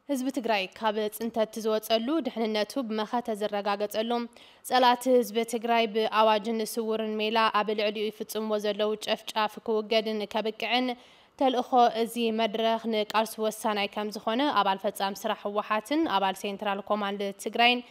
ህዝቢ ትግራይ ካብ ፅንተት ዝወፀሉ፣ ድሕንነቱ ብመኸተ ዝረጋገፀሉ፣ ፀላእቲ ህዝቢ ትግራይ ብኣዋጅን ስውርን ሜላ ኣብ ልዕሊኡ ይፍፅምዎ ዘለዉ ጨፍጫፍ ክውገድን ከብቅዕን ተልእኾ እዚ መድረኽ ንቃልሱ ወሳናይ ከም ዝኾነ ኣባል ፈፃሚ ስራሕ ህወሓትን ኣባል ሴንትራል ኮማንድ ትግራይን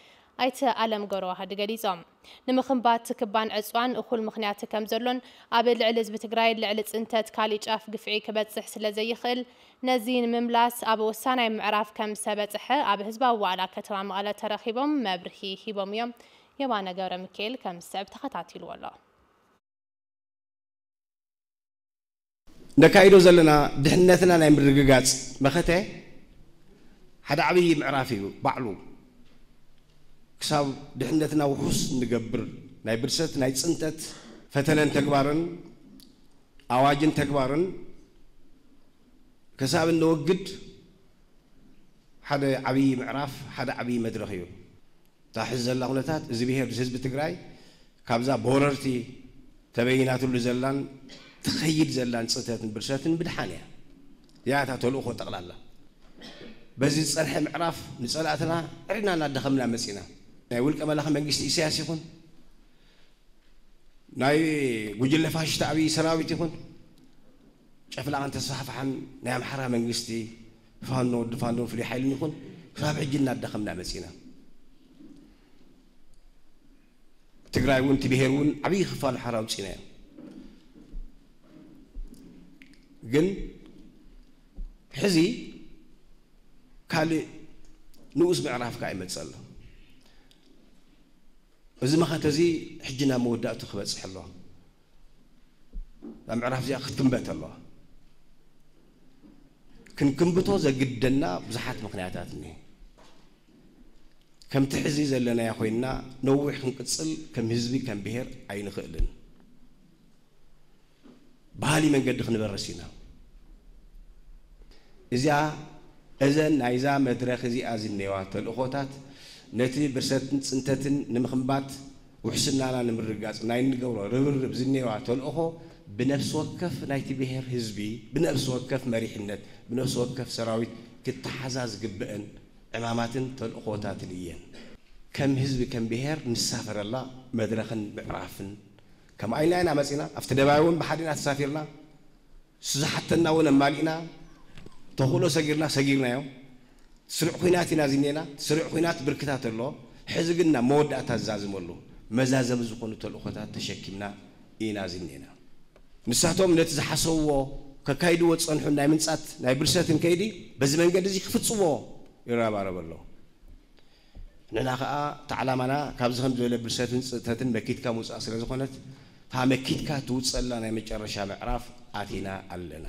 ኣይተ ኣለም ገብረዋህድ ገሊፆም። ንምኽንባት ክባን ዕፅዋን እኹል ምኽንያት ከም ዘሎን ኣብ ልዕሊ ህዝቢ ትግራይ ልዕሊ ፅንተት ካሊእ ጫፍ ግፍዒ ክበፅሕ ስለ ዘይኽእል ነዚ ንምምላስ ኣብ ወሳናይ ምዕራፍ ከም ዝተበፅሐ ኣብ ህዝባዊ ዋዕላ ከተማ መቐለ ተረኺቦም መብርሂ ሂቦም እዮም። የማነ ገብረ ሚካኤል ከም ዝስዕብ ተኸታቲልዎ ኣሎ። ነካይዶ ዘለና ድሕነትና ናይ ምርግጋፅ መኸተ ሓደ ዓብዪ ምዕራፍ እዩ ባዕሉ። ክሳብ ድሕነትና ውሑስ ንገብር ናይ ብርሰት ናይ ፅንተት ፈተነን ተግባርን ኣዋጅን ተግባርን ክሳብ እንወግድ ሓደ ዓብዪ ምዕራፍ ሓደ ዓብዪ መድረኽ እዩ። እታ ሕዚ ዘላ ኩነታት እዚ ብሄር ህዝቢ ትግራይ ካብዛ ብወረርቲ ተበይናትሉ ዘላን ትኸይድ ዘላን ፅንተትን ብርሰትን ምድሓን እያ። እዚኣ እታ ተልእኾ ጠቕላላ። በዚ ዝፀንሐ ምዕራፍ ንፀላእትና ዕድና እናደኸምና መፂና። ናይ ውልቀ መላኺ መንግስቲ ኢሳያስ ይኹን ናይ ጉጅለ ፋሽስት ኣብይ ሰራዊት ይኹን ጨፍላቕን ተስፋሕፋሕን ናይ ኣምሓራ መንግስቲ ፋኖ ወዲ ፋኖን ፍሉይ ሓይልን ይኹን ክሳብ ሕጂ እናደኸምና መፂና። ትግራይ እውን እቲ ብሄር እውን ዓብዪ ክፋሉ ሓራ ኣውፂና እዮም። ግን ሕዚ ካልእ ንኡስ ምዕራፍ ከዓ ይመፅእ ኣሎ። እዚ መኸተ እዚ ሕጂ ናብ መወዳእቱ ክበፅሕ ኣለዎ። እዛ ምዕራፍ እዚኣ ክትክንበት ኣለዋ። ክንክንብቶ ዘግደና ብዙሓት ምኽንያታት እኒሀ። ከምቲ ሕዚ ዘለናዮ ኮይንና ነዊሕ ክንቅፅል ከም ህዝቢ ከም ብሄር ኣይንኽእልን። ባህሊ መንገዲ ክንበርስ ኢና። እዚኣ እዘን ናይዛ መድረኽ እዚኣ ዝኔዋ ተልእኾታት ነቲ ብርሰትን ፅንተትን ንምኽንባት ውሕስናና ንምርግጋፅ ናይ እንገብሮ ርብርብ ዝኔዋ ተልእኾ ብነፍሲ ወከፍ ናይቲ ብሄር ህዝቢ ብነፍሲ ወከፍ መሪሕነት ብነፍሲ ወከፍ ሰራዊት ክተሓዛ ዝግብአን ዕማማትን ተልእኾታትን እየን። ከም ህዝቢ ከም ብሄር ንሳፈረላ መድረኽን ምዕራፍን ከምኣ ኢልና ኢና መፂና። ኣብቲ ደባይ እውን ብሓደ ኢና ተሳፊርና። ዝሓተና እውን ኣማሊእና። ተኽእሎ ሰጊርና ሰጊርናዮ። ስሩዕ ኲናት ኢና ዝኔና። ስሩዕ ኲናት ብርክታት ኣሎ። ሕዚ ግን ናብ መወዳእታ ዝዛዝመሉ መዛዘሚ ዝኾኑ ተልእኾታት ተሸኪምና ኢና ዝኔና። ንሳቶም ነቲ ዝሓሰብዎ ከካይድዎ ዝፀንሑ ናይ ምንፃት ናይ ብርሰትን ከይዲ በዚ መንገዲ እዚ ክፍፅዎ ይረባረብ ኣሎ። ንሕና ከዓ እቲ ዓላማና ካብዚ ከም ዝበለ ብርሰትን ፅእተትን መኪትካ ምውፃእ ስለ ዝኾነት እታ መኪትካ ትውፀላ ናይ መጨረሻ ምዕራፍ ኣቲና ኣለና።